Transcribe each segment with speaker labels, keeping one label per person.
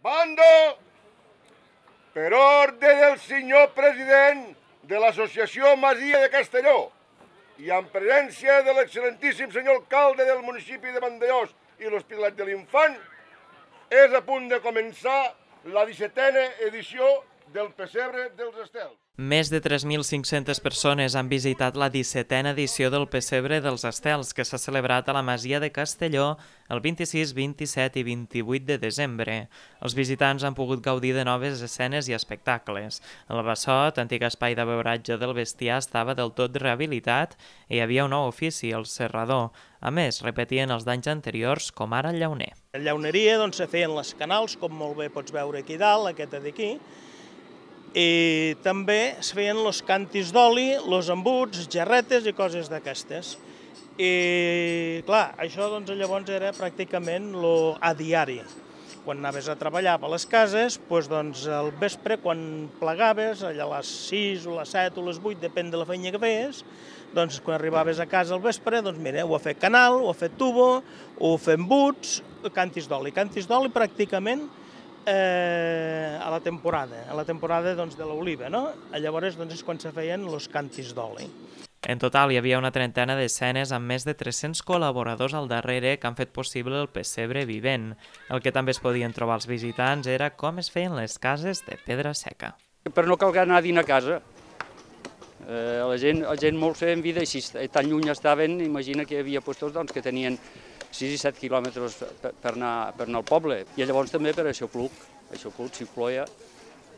Speaker 1: Mando, per ordre del senyor president de l'Associació Masia de Castelló i en presència de l'excel·lentíssim senyor alcalde del municipi de Vandellòs i l'Hospitalet de l'Infant, és a punt de començar la 17a edició del Pessebre dels Estels.
Speaker 2: Més de 3.500 persones han visitat la 17a edició del Pessebre dels Estels, que s'ha celebrat a la Masia de Castelló el 26, 27 i 28 de desembre. Els visitants han pogut gaudir de noves escenes i espectacles. El Bassot, antic espai de beuratge del bestiar, estava del tot rehabilitat i hi havia un nou ofici, el serrador. A més, repetien els d'anys anteriors, com ara el llauner.
Speaker 3: La llauneria se feien les canals, com molt bé pots veure aquí dalt, aquesta d'aquí, i també es feien els cantis d'oli, els embuts, gerretes i coses d'aquestes. I clar, això llavors era pràcticament a diari. Quan anaves a treballar a les cases, al vespre, quan plegaves, allà a les 6 o les 7 o les 8, depèn de la feina que feies, quan arribaves a casa al vespre, mira, o a fer canal, o a fer tubo, o a fer embuts, cantis d'oli. Cantis d'oli pràcticament a la temporada de l'oliva, no? Llavors és quan se feien els cantis d'oli.
Speaker 2: En total hi havia una trentena d'escenes amb més de 300 col·laboradors al darrere que han fet possible el pessebre vivent. El que també es podien trobar els visitants era com es feien les cases de pedra seca.
Speaker 4: Per no calgar anar a dinar a casa. La gent molt feien vida així, tan lluny estaven, imagina que hi havia puestos que tenien 6 i 7 quilòmetres per anar al poble. I llavors també per Aixopluc, s'hi ploia,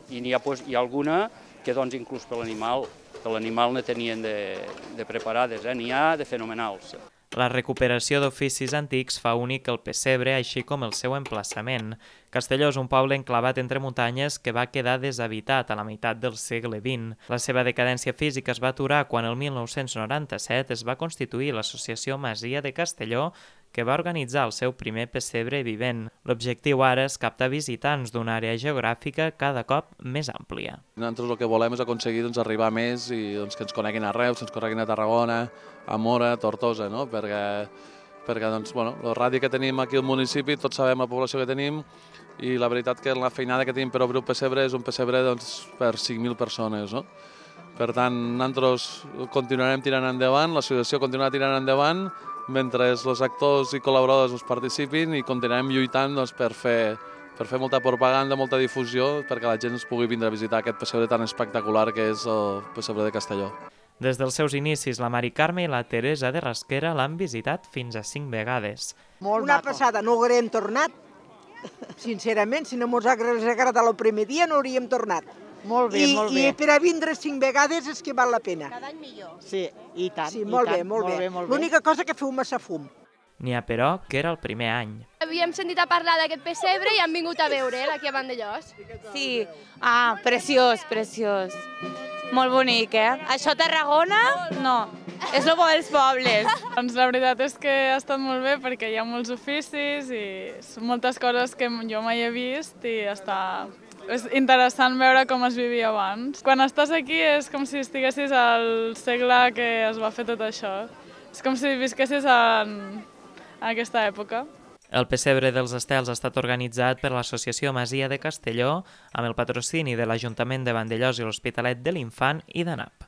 Speaker 4: i n'hi ha alguna que inclús per l'animal ne tenien de preparades, n'hi ha de fenomenals.
Speaker 2: La recuperació d'oficis antics fa únic el pessebre, així com el seu emplaçament. Castelló és un poble enclavat entre muntanyes que va quedar deshabitat a la meitat del segle XX. La seva decadència física es va aturar quan el 1997 es va constituir l'Associació Masia de Castelló, que va organitzar el seu primer pessebre vivent. L'objectiu ara és captar visitants d'una àrea geogràfica cada cop més àmplia.
Speaker 5: Nosaltres el que volem és aconseguir arribar més i que ens coneguin a Reus, ens coneguin a Tarragona, a Móra, a Tortosa, perquè el radi que tenim aquí al municipi, tots sabem la població que tenim i la veritat que la feinada que tenim per obrir un pessebre és un pessebre per 5.000 persones. Per tant, nosaltres continuarem tirant endavant, l'associació continuarà tirant endavant, mentre els actors i col·laboradors participin i continuarem lluitant per fer molta propaganda, molta difusió, perquè la gent ens pugui vindre a visitar aquest pessebre tan espectacular que és el pessebre de Castelló.
Speaker 2: Des dels seus inicis, la Mari Carme i la Teresa de Rasquera l'han visitat fins a 5 vegades.
Speaker 6: Una passada, no haurem tornat, sincerament, si no ens hagués agradat el primer dia no hauríem tornat.
Speaker 7: Molt bé, molt bé.
Speaker 6: I per a vindre 5 vegades és que val la pena.
Speaker 7: Cada any millor. Sí, i tant.
Speaker 6: Sí, molt bé, molt bé. L'única cosa que feu massa fum.
Speaker 2: N'hi ha, però, que era el primer any.
Speaker 8: Havíem sentit a parlar d'aquest pessebre i hem vingut a veure'l aquí a Vandellòs.
Speaker 9: Sí, preciós, preciós. Molt bonic, Això a Tarragona, no. És el bo dels pobles.
Speaker 10: Doncs la veritat és que ha estat molt bé perquè hi ha molts oficis i són moltes coses que jo mai he vist i és interessant veure com es vivia abans. Quan estàs aquí és com si estiguessis al segle que es va fer tot això. És com si visquessis en aquesta època.
Speaker 2: El pessebre dels Estels ha estat organitzat per l'Associació Masia de Castelló amb el patrocini de l'Ajuntament de Vandellòs i l'Hospitalet de l'Infant i d'ANAP.